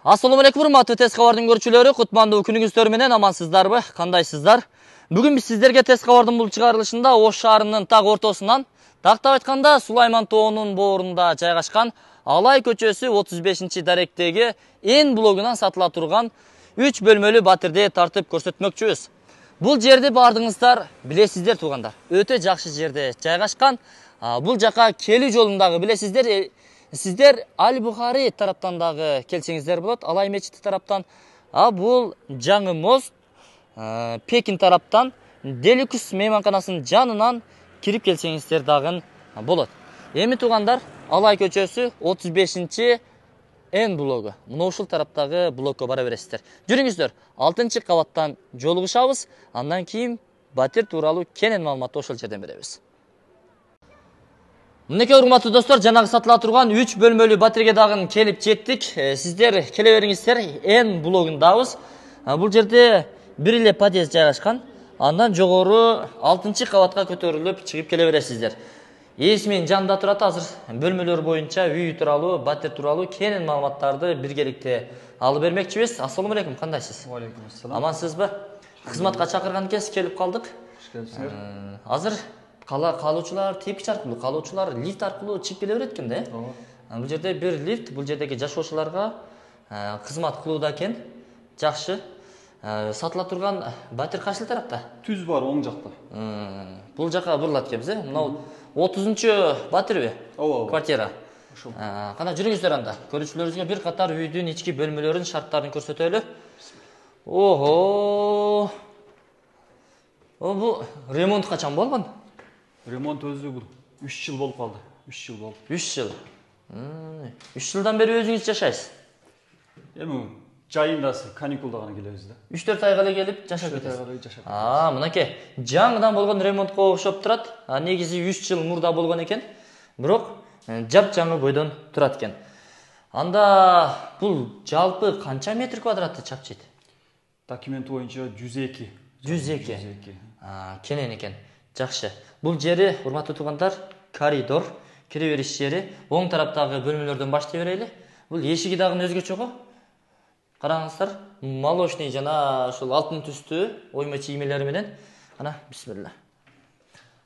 Assalamu alaikum, урматтуу Тез кабардын көрүүчүлөрү, кутмандуу күнүңүздөр менен амансыздарбы? Кандайсыздар? Бүгүн биз сиздерге Тез кабардын бул чыгарылышында Ош шаарынын так ортосунан, тактап айтканда Сулайман тоонун боорунда жайгашкан Алай көчөсү 35-даректеги Эн блогунан сатыла турган 3 бөлмөлүү батирди тартып көрсөтмөкчүбүз. Бул жерди баардыгыңыздар билесиздер туугандар. Өтө жакшы жерде жайгашкан. Бул жака келүү жолундагы билесиздер. Сиздер Аль-Бухари тараптан дагы келсеңиздер болот, Алай мечити тараптан. Бул жаңы мост Пекин тараптан Деликус мейманканасынын жанынан кирип келсеңиздер дагы болот. Эми туугандар, Алай көчөсү 35 Эн блогу. Мына ушул тараптагы блокко бара бересиздер. Жүрүңүздөр, 6-кабаттан жолугушабыз. Андан кийин батир тууралуу кенен маалыматты ошол жерден беребиз. Мынакей урматтуу достор, жанагы сатыла турган 3 бөлмөлүү батирге дагы келип жеттик. Сиздер келе бериңиздер, Эн блогундабыз. Бул жерде бир эле подъезд жайгашкан. Андан жогору 6-кабатка көтөрүлүп чыгып келе бересиздер. Эсмин жанында турат, азыр бөлмөлөр боюнча үй тууралуу, батир тууралуу кенен маалыматтарды биргеликте алып бермекчибиз. Ассаламу алейкум, кандайсыз? Алейкум ассалам. Амансызбы? Кызматка чакырган кез келип калдык. Азыр каалоочулар тепкич аркылуу, каалоочулар лифт аркылуу чыгып келе берет экен да. Бул жерде бир лифт, бул жердеги жашоочуларга кызмат кылууда экен. Жакшы. Сатыла турган батир кайсыл тарапта? Түз бар, оң жакта. Бул жака бурулат экенбиз, Мына 30 батирби? Ооба. Квартира. Кана жүрүңүздөр анда. Көрүүчүлөрүбүзгө бир катар үйдүн ички бөлмөлөрүнүн шарттарын көрсөтөлү. Ого! Бул ремонт качан болгон? Ремонт өзү бул 3 жыл болуп калды. 3 жыл болду. 3 жыл. 3 жылдан бери өзүңүз жашайсыз? Эми жайындасы, каникулда гана келебиз да. 3-4 айга эле келип жашап кетесиз. 3 айга эле жашап. Мынакей, жаңыдан болгон ремонтко окшоп турат. Негизи 3 жыл мурда болгон экен. Бирок жап-жаңы бойдон турат экен. Анда бул жалпы канча метр квадратты чапчыйт? Документ боюнча 102. 102. Кенен экен. Жакшы. Бул жери, урматтуу туугандар, коридор, кире бериш жери. Оң тараптагы бөлмөлөрдөн баштай берели. Бул эшиги дагы өзгөчө го. Караңыздар, молочный жана ушул алтын түстүү ойма чиймелери менен. Ана, бисмилла.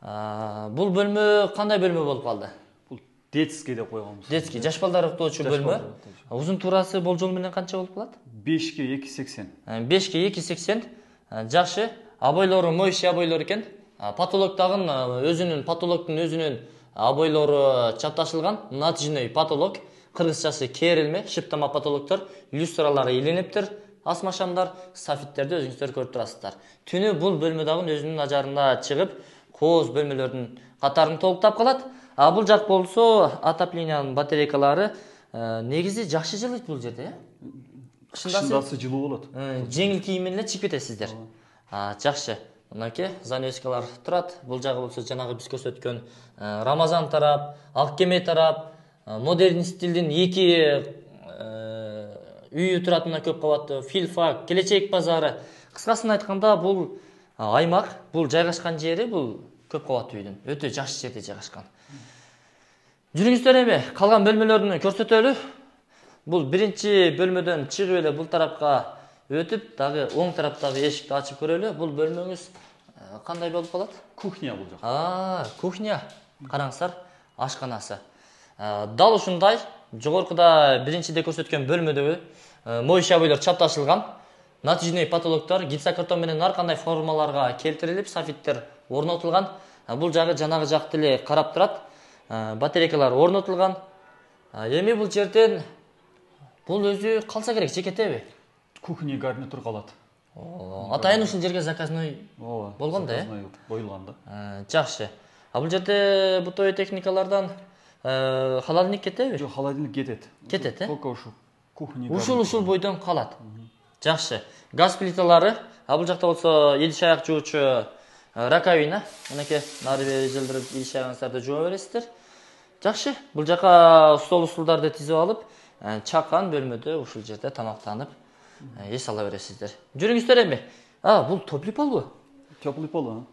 Бул бөлмө кандай бөлмө болуп калды? Бул детский деп койгонбуз. Детский, жаш балдар уктоочу бөлмө. Узун туурасы болжол менен канча болуп калат? 5ке 280. 5ке 280. Жакшы. Абойлору моющий абойлор экен. Потолок дагы потолоктун өзүнүн абойлору чапташылган. Натыжный потолок. Кыргызчасы керилме, шыптама потолоктор, люстралары илиниптир, асмашамдар, софиттерди өзүңүздөр көрүп турасыздар. Түнү бул бөлмө дагы өзүнүн ажарында чыгып, кооз бөлмөлөрдүн катарын толуктап калат. Бул жак болсо отоплениянын батарейкалары негизи жакшы жылыйт бул жерде, Кышындасы жылуу болот. Жеңил кийим менен чыгып кетесиздер. Жакшы. Мынакей занавескалар турат. Бул жагы болсо жанагы биз көрсөткөн Рамазан тарап, Ак кеме тарап, модерн стилдин 2 үйү турат, мына көп кабаттуу Филфак, Келечек базары. Кыскасын айтканда, бул аймак, бул жайгашкан жери, бул көп кабаттуу үйдүн өтө жакшы жерде жайгашкан. Жүрүңүздөр, эми калган бөлмөлөрүн көрсөтөлү. Бул биринчи бөлмөдөн чыгып эле бул тарапка өтүп, дагы оң тараптагы эшикти ачып көрөлү. Бул бөлмөңүз кандай болуп калат? Кухня бул жак. Кухня. Караңыздар, ашканасы. Дал ушундай, жогоркуда биринчиде көрсөткөн бөлмөдөгү моющий абойлор чапташылган. Натыжный потолоктор гипсокартон менен ар кандай формаларга келтирилип, софиттер орнотулган. Бул жагы жанагы жакты эле карап турат. Батарейкалар орнотулган. Эми бул жерден бул өзү калса керек, жекетеби? Кухня гарнитур калат. Атайын ушул жерге заказной болгон да, коюлган да. Жакшы. Бул жерде бытовый техникалардан холодильник кетеби? Жок, холодильник кетет. Кетет, Только ушул кухня. Ушул бойдон калат. Жакшы. Газ плиталары, бул жакта болсо идиш аяк жуучу раковина. Мынакей нары бери жылдырып идиш аягыңыздарды жууа бересиздер. Жакшы. Бул жака стол-устулдарды тизип алып, чакан бөлмөдө ушул жерде тамактанып эс ала бересиздер. Жүрүңүздөр эми. Бул теплый полбу? Теплый пол,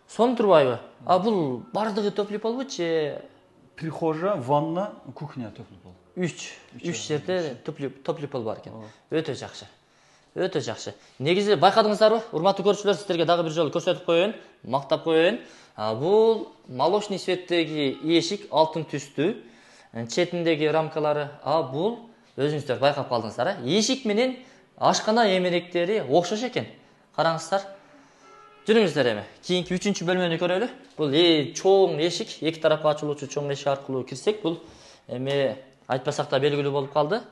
Сон турбайбы? Бул бардыгы теплый полбу же? Прихожа, ванна, кухня теплый пол. 3 жерде топлый пол бар экен. Өтө жакшы. Өтө жакшы. Негизи байкадыңыздарбы? Урматтуу көрүүчүлөр, сиздерге дагы бир жолу көрсөтүп коеюн, мактап коеюн. Бул молочный цветтеги эшик алтын түстүү, четиндеги рамкалары. Бул өзүңүздөр байкап калдыңыздар, эшик менен ашкана эмеректери окшош экен. Караңыздар. Жүрүңүздөр эми. Кийинки 3-чү бөлмөнү көрөлү. Бул чоң эшик, эки тарапка ачылуучу чоң эшик аркылуу кирсек, бул эми айтпасак да белгилүү болуп калды.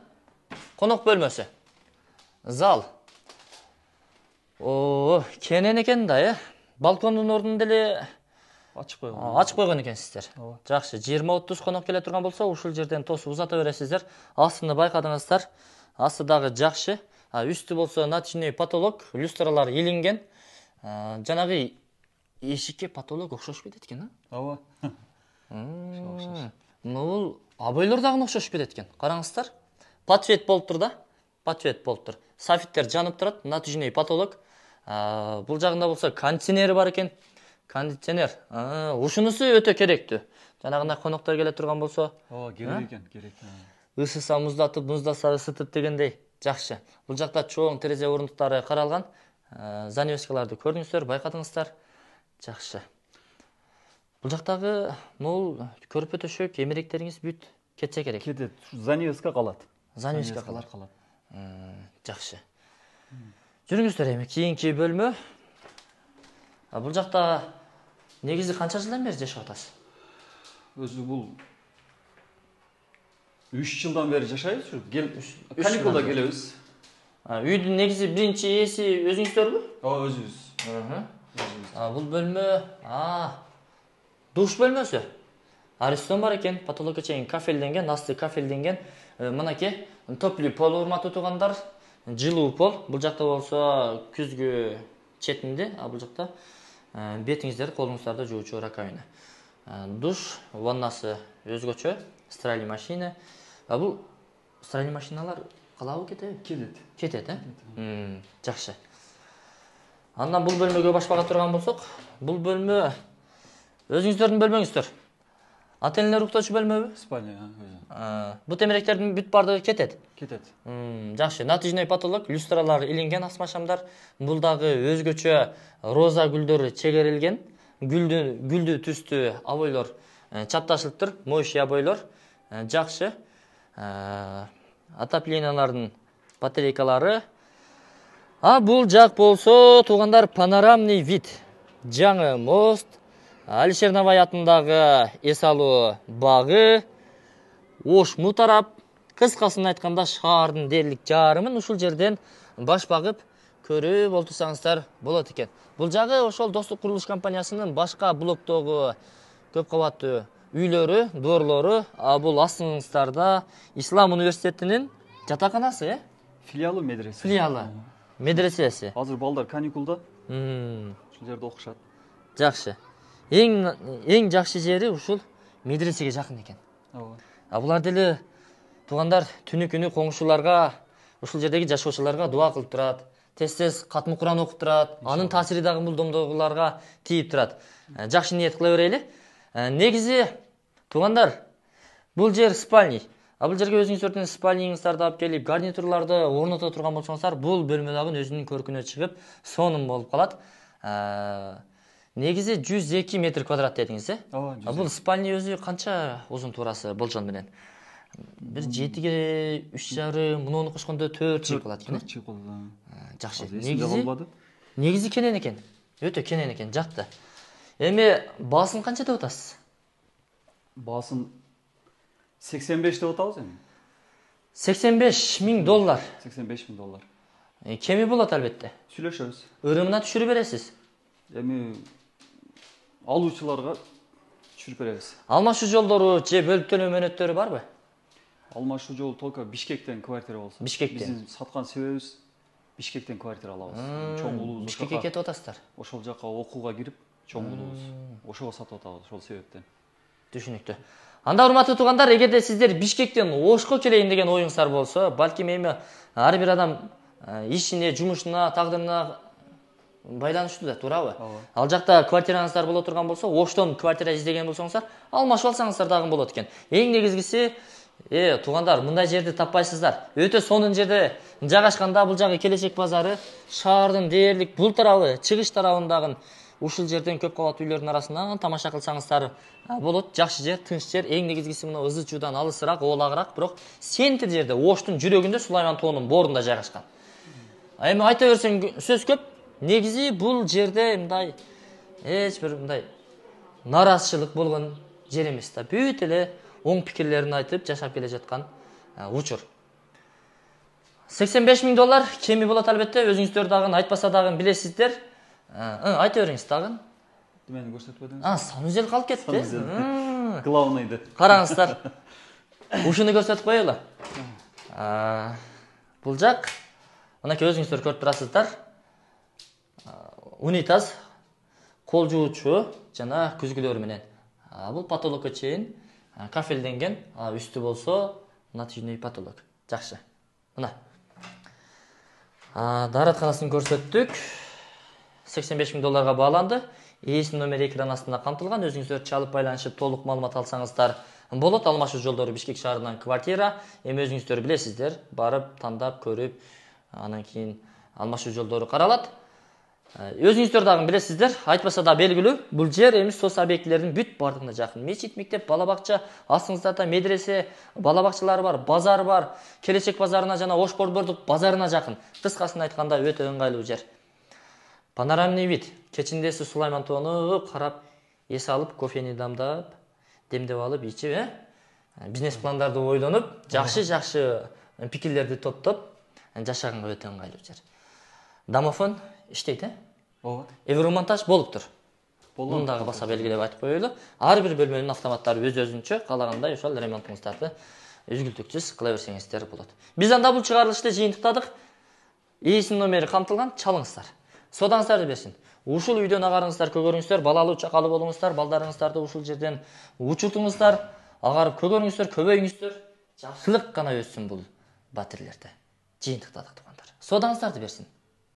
Конок бөлмөсү. Зал. Кенен экен да, балкондун ордун деле ачып койгон. Ачып койгон экенсиздер. Жакшы, 20-30 конок келе турган болсо, ушул жерден тосуп узата бересиздер. Астында байкадыңыздар. Асты дагы жакшы. Үстү болсо натяжный потолок, люстралар илинген. Жанагы эшикке потолок окшошуп кетет экен, Ооба. Бул абойлор дагы окшошуп кетет экен. Караңыздар. Подсвет болуп тур да. Подсвет болуп тур. Софиттер жанып турат, натяжный потолок. Бул жагында болсо кондиционери бар экен. Кондиционер. Ушунусу өтө керектүү. Жанагындай коноктор келе турган болсо, керек экен, керек. Ысыса муздатып, муздаса ысытып дегендей. Жакшы. Бул жакта чоң терезе орундуктары каралган. Занавескаларды көрдүңүздөр, байкадыңыздар. Жакшы. Бул жактагы могул көрпө төшөк эмеректериңиз бүт кетсе керек. Кетет. Занавеска калат. Занавеска калат. Жакшы. Жүрүңүздөр эми кийинки бөлмө. Бул жакта негизи канча жылдан бери жашап атасыз? Өзү бул 3 жылдан бери жашайбыз. Каникулда келебиз. Үйдүн негизи биринчи ээси өзүңүздөрбү? Өзүбүз. Бул бөлмө, душ бөлмөсү. Аристон бар экен, потолокко чейин кафелденген, асты кафелденген. Мынакей, топлый пол урматтуу туугандар, жылуу пол. Бул жакта болсо күзгү четинде, бул жакта бетиңиздерди, колуңуздарды жуучу раковина. Душ, ваннасы өзгөчө, стиральный машина. Бул стиральный машиналар калабы кетеби? Кетет, Жакшы. Андан бул бөлмөгө башпага турган болсок, бул бөлмө өзүңүздөрдүн бөлмөңүздөр. Ата-энелер уктоочу бөлмөбү? Спальня. Бут эмеректердин бүт бардыгы кетет. Жакшы. Натяжный потолок, люстралар илинген, асмашамдар. Бул дагы өзгөчө роза гүлдөр чегерилген. Гүлдүү түстүү абойлор чапташылыптыр, моющий абойлор. Жакшы. Отоплениялардын батарейкалары. Бул жак болсо, туугандар, панорамный вид. Жаңы мост, Алишер Навай атындагы эс алуу багы, Ош мутарап, кыскасын айтканда шаардын дээрлик жарымын ушул жерден баш багып көрүп олтурсаңыздар болот экен. Бул жагы ошол Достук курулуш компаниясынын башка блоктогу көп кабаттуу үйлөрү, доорлору. Бул астыңыздарда Ислам университетинин жатаканасы, Филиалы медресе. Филиалы медресеси. Азыр балдар каникулда. Ушул жерде окушат. Жакшы. Эң жакшы жери ушул медресеге жакын экен. Булар деле туугандар түнү күнү коңшуларга, ушул жердеги жашоочуларга дуа кылып турат. Тез-тез катмы Куран окуп турат. Анын таасири дагы бул домдогуларга тийип турат. Жакшы ниет кыла берели. Негизи туугандар, бул жер спальня. Бул жерге өзүңүздөрдүн спальняңыздарды алып келип, гарнитурларды орното турган болсоңуздар, бул бөлмө дагы өзүнүн көркүнө чыгып, сонун болуп калат. Негизи 102 метр квадрат дедиңиз, Бул спальня өзү канча узун туурасы болжол менен? Бир 7-ге 3,5, муну кошкондо 4 чыйып калат экен. Жакшы. Негизи кенен экен. Өтө кенен экен, жакты. Эми баасын канча деп атасыз? Баасын 85 деп атабыз эми. $85,000. 85,000. Кеми болот албетте. Сүйлөшөбүз. Ырымына түшүрүп бересиз. Эми алуучуларга түшүрүп беребиз. Алмашуу жолдору же бөлүп төлөө мөөнөттөрү барбы? Алмашуу жол только Бишкектен квартира болсо. Бишкектен. Биздин саткан себебибиз Бишкектен квартира алабыз. Чоң улуубуз. Бишкекке кетип атасыздар. Ошол жака окууга кирип, чоң улуубуз. Ошого сатып атабыз, ошол себептен. Түшүнүктүү. Анда урматтуу туугандар, эгерде сиздер Бишкектен Ошко келейин деген оюңуздар болсо, балким эми ар бир адам ишине, жумушуна, тагдырына байланыштуу да, туурабы? Ал жакта квартираңыздар боло турган болсо, Оштон квартира издеген болсоңуздар, алмашып алсаңыздар дагы болот экен. Эң негизгиси Туугандар, мындай жерди таппайсыздар. Өтө сонун жерде жайгашканда бул жагы Келечек базары шаардын дээрлик бул тарабы, чыгыш тарабындагы ушул жерден көп кабат үйлөрдүн арасынан тамаша кылсаңыздар болот. Жакшы жер, тынч жер, эң негизгиси мына ызы чуудан алысыраак, оолагыраак, бирок сентир жерде, Оштун жүрөгүндө, Сулайман тоонун боорунда жайгашкан. Эми айта берсең сөз көп. Негизи бул жерде мындай эч бир мындай нараазычылык болгон жер эмес да. Бүт эле оң пикирлерин айтып жашап келе жаткан учур. $85,000 кеми болот албетте. Өзүңүздөр дагы айтпаса дагы билесиздер. Айта бериңиз дагы. Мени көрсөтүп өтүңүз. Санузел калып кетти. Главныйды. Караңыздар. Ушуну көрсөтүп коелу. Бул жак мынакей өзүңүздөр көрүп турасыздар. Унитаз, кол жуучу жана күзгүлөр менен. Бул потолокко чейин кафелденген. Үстү болсо натижный потолок. Жакшы. Мына. Дааратканасын көрсөттүк. $85,000 бааланды. Ээсинин номери экран астында камтылган. Өзүңүздөр чалып байланышып толук маалымат алсаңыздар болот. Алмашуу жолдору Бишкек шаарынан квартира. Эми өзүңүздөр билесиздер, барып тандап көрүп, анан кийин алмашуу жолдору каралат. Өзүңүздөр дагы билесиздер, айтпаса да белгилүү, бул жер эми соц объектилердин бүт бардыгына жакын. Мечит, мектеп, бала бакча, астыңыздарда медресе, бала бакчалары бар, базар бар. Келечек базарына жана Ош борбордук базарына жакын. Кыскасын айтканда өтө ыңгайлуу жер. Панорамный вид. Кечиндеси Сулайман тоону карап, эс алып, кофени дамдап, демдеп алып, ичип, бизнес пландарды ойлонуп, жакшы пикирлерди топтоп, жашаганга өтө ыңгайлуу жер. Домофон иштейт, Ооба. Евромонтаж болуптур. Муну дагы баса белгилеп айтып коелу. Ар бир бөлмөнүн автоматтары өз-өзүнчө, каалагандай ошол ремонтуңуздарды үзгүлтүксүз кыла берсеңиздер болот. Биз анда бул чыгарылышты жыйынтыктадык. Ээсинин номери камтылган, чалыңыздар. Содаңыздарды берсин. Ушул үйдөн агарыңыздар, көгөрүңүздөр, балалуу чакалуу болуңуздар, балдарыңыздарды ушул жерден учуртуңуздар, агарып көгөрүңүздөр, көбөйүңүздөр. Жакшылык гана өссүн бул батирлерде. Жыйынтыктадык туугандар. Содаңыздарды берсин.